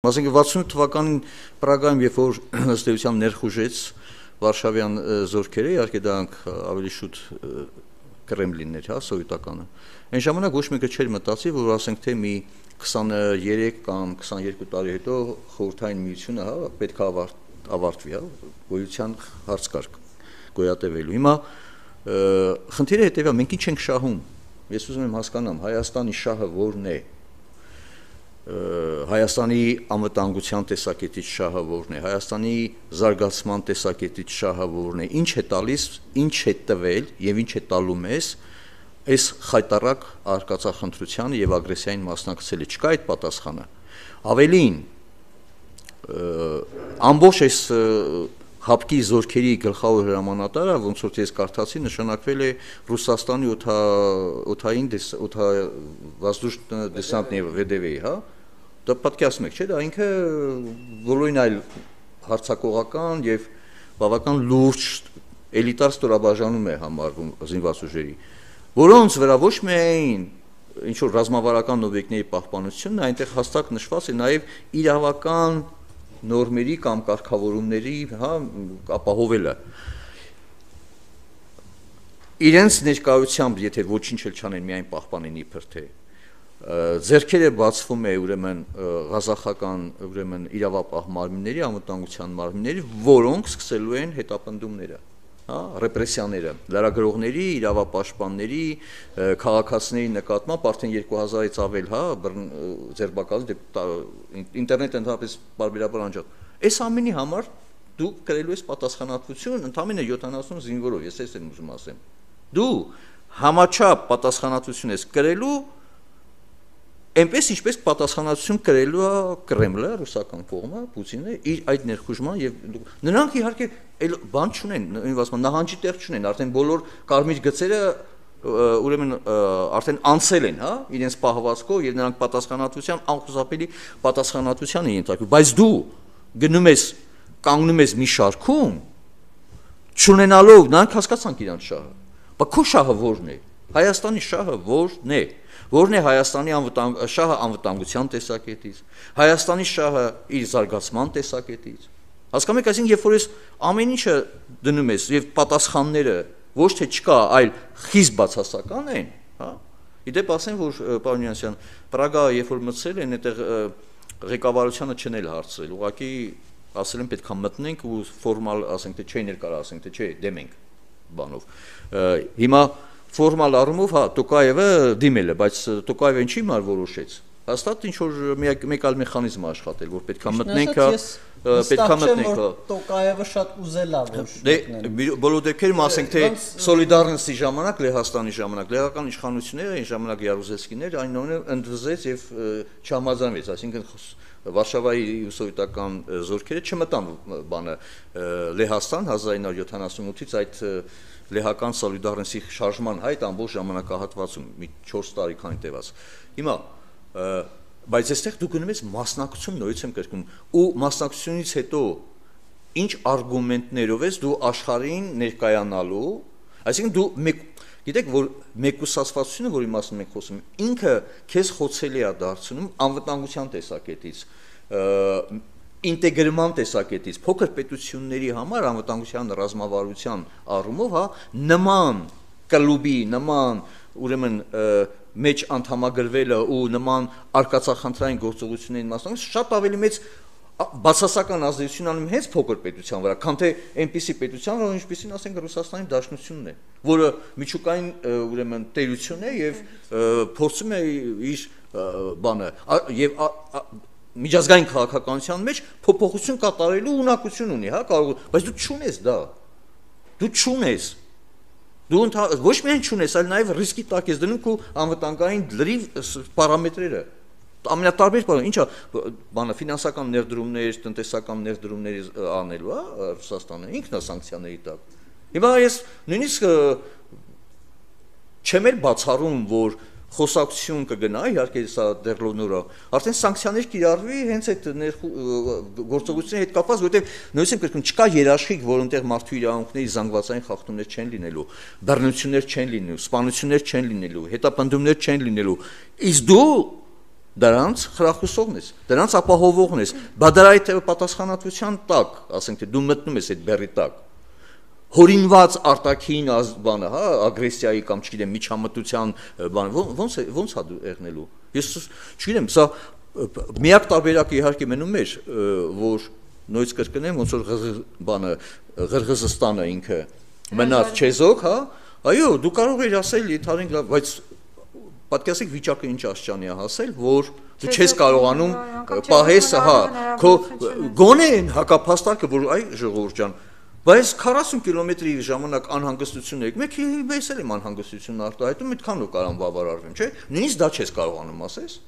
Մասնագետ 68 թվականին Պրագայում, երբ որ ըստ էության ներխուժեց Վարշավյան զորքերը, իհարկե դրանք ավելի շուտ Կրեմլինն էր, հա, սովետականը։ Այն ժամանակ ոչ մեկը չէր մտածի, որ ասենք թե մի 23 կամ 22 տարի հետո խորհրդային միությունը, հա, պետք է ավարտվի, հա, գոյության հարց կար գոյատևելու։ Հիմա խնդիրը հետևյալ, մենք ինչ ենք շահում։ Ես ուզում եմ հասկանամ, Հայաստանի շահը որն է։ Հայաստանի անվտանգության տեսակետից շահը որն է, Հայաստանի զարգացման տեսակետից շահը որն է, ինչ է տալիս, ինչ է տվել եւ ինչ է տալու մեզ այս խայտարակ արկածախնդրությանը եւ ագրեսիային մասնակցելը, չկա այդ պատասխանը։ Ավելին, ամբողջ այս հապկի զորքերի գլխավոր հրամանատարը, ոնց որ ես կարդացի, նշանակվել է Ռուսաստանի օդային դեսանտնի վեդևեի, հա։ Դա պատկերացնում եք, չէ՞, դա ինքը բոլորին այլ հարցակողական եւ բավական լուրջ էլիտար ստորաբաժանում է համարվում զինված ուժերի, որոնց վրա ոչ միայն ինչ որ ռազմավարական օբյեկտների պահպանությունն, այնտեղ հստակ նշված է նաեւ իրավական նորմերի կամ կարգավորումների, հա, ապահովելը։ Իրենց ներկայությամբ, եթե ոչինչ էլ չանեն, միայն պահպանեն իբր թե ձեռքերը բացվում է ուրեմն ղազախական ուրեմն իրավապահ մարմինների, անվտանգության մարմինների, որոնք սկսելու են հետապնդումները, հա, ռեպրեսիաները, լրագրողների, իրավապաշտպանների, քաղաքացիների նկատմամբ արդեն 2000-ից ավել, հա, ձերբակալի ինտերնետը ընդհանրապես բարբերաբար անջատ։ Այս ամենի համար դու կրելու ես պատասխանատվություն ընդամենը 70 զինվորով, ես ես եմ ուզում ասեմ։ Դու համաչափ պատասխանատվություն ես կրելու այնպես ինչպես պատասխանատվություն կրելու է Կրեմլը, ռուսական կողմը, Պուտինը իր այդ ներխուժման եւ նրանք իհարկե այլ բան չունեն, նույնիսկ նահանջի տեղ չունեն, արդեն բոլոր կարմիր գծերը ուրեմն արդեն անցել են, հա, իրենց պահվածքով եւ նրանք պատասխանատվության անխուսափելի պատասխանատվության են ենթարկվում, բայց դու գնում ես կանգնում ես մի շարքում չունենալով նրանք հասկացանք իրանց շահը, բայց քո շահը ո՞րն է, Հայաստանի շահը ո՞րն է, որն է Հայաստանի շահը անվտանգության տեսակետից, Հայաստանի շահը իր զարգացման տեսակետից։ Հասկանում եք, այսինքն երբ որ ես ամեն ինչը դնում ես եւ պատասխանները ոչ թե չկա, այլ խիստ բացասական են, հա։ Իդեպ ասեմ, որ պարոն Յանսյան, Պրագա երբ որ մտցել են, այդտեղ ղեկավարությանը չնել հարցրել, ուղղակի ասել են պետք է մտնենք ու ֆորմալ ասենք թե չէ ներկարա ասենք թե չէ դեմ ենք բանով։ Հիմա ֆորմալ առումով, հա, Տոկաևը դիմել է, բայց Տոկաևը ինչի համար որոշեց։ Հաստատ ինչ որ մեկ այլ մեխանիզմ աշխատել, որ պետքա մտնենք, պետքա մտնենք։ Տոկաևը շատ ուզել է, որ մտնենք։ Բոլոր դեպքերում ասենք թե Սոլիդարնսի ժամանակ, Լեհաստանի ժամանակ, լեհական իշխանությունները, այն ժամանակ Յարուզելսկիներ այն նույնը ընդվզեց եւ չհամաձայնվեց, այսինքն Վարշավայի սովետական զորքերը չմտան բանը Լեհաստան 1978-ից այդ լեհական Սոլիդարնսի շարժման հայտ ամբողջ ժամանակահատվածում մի 4 տարի քանի տևած։ Հիմա բայց այստեղ դու գնում ես մասնակցություն նորից եմ կրկնում ու մասնակցությունից հետո ինչ արգումենտներով ես դու աշխարհին ներկայանալու, այսինքն դու գիտեք որ մեկուսացվածությունը, որի մասին մենք խոսում ենք, ինքը քեզ խոցելի է դարձնում անվտանգության տեսակետից, ինտեգրման տեսակետից, փոքր պետությունների համար անվտանգության ռազմավարության առումով, հա, նման կլուբի, նման ուրեմն մեջ անդամագրվելը ու նման արկածախնդրային գործողություններին մասնակցելը շատ ավելի մեծ բացասական ազդեցություն անում հենց փոքր պետության վրա, քան թե այնպիսի պետության, որ ինչպիսին ասենք Ռուսաստանի Դաշնությունն է, որը միջուկային ուրեմն տերություն է եւ փորձում է իր բանը եւ միջազգային քաղաքականության մեջ փոփոխություն կատարելու ունակություն ունի, հա, կարող, բայց դու չունես դա։ Դու չունես։ Դու ոչ միայն չունես, այլ նաեւ ռիսկի տակ ես դնում քո անվտանգային լրիվ պարամետրերը։ Ամենատարբեր բանը, ինչա, բանը ֆինանսական ներդրումներ, տնտեսական ներդրումներ անելու, հա, Ռուսաստանը ինքն է սանկցիաների տակ։ Հիմա ես նույնիսկ չեմ էլ բացառում, որ խոսակցություն կգնա, իհարկե սա դեռ նորա, արդեն սանկցիաներ կիրառվի հենց այդ գործողությունների հետ կապված, որովհետև նույնիսկ եմ կրկնում, չկա երաշխիք, որ այնտեղ մարդու իրավունքների զանգվածային խախտումներ չեն լինելու, բռնություններ չեն լինելու, սպանություններ չեն լինելու, հետապնդումներ չեն լինելու, իսկ դու դրանց խրախուսողն ես, դրանց ապահովողն ես, բա դրա այդ պատասխանատվության տակ, ասենք թե դու մտնում ես այդ բեռի տակ, հորինված արտաքին բանը, հա, ագրեսիայի կամ չգիտեմ միջամտության բանը, ոնց է դու եղնելու։ Ես չգիտեմ, սա միակ տարբերակը իհարկե մնում էր, որ նույնիսկ կրկնեմ, ոնց որ բանը Ղրղզստանը ինքը մնաց չեզոք, հա, այո, դու կարող ես ասել, իթարին լավ, բայց պատկերացեք վիճակը ինչ աստիճանի է հասել, որ դու չես կարողանում պահես, հա, քո գոնե հակափաստարկը, որ այ ժողովուրդ ջան, բայց 40 կիլոմետրի ժամանակ անհանգստություն եք, մեկ ես էլ եմ անհանգստություն արտահայտում, այդքանով կարամ բավարարվեմ, չէ՞։ Նույնիսկ դա չես կարողանում ասես։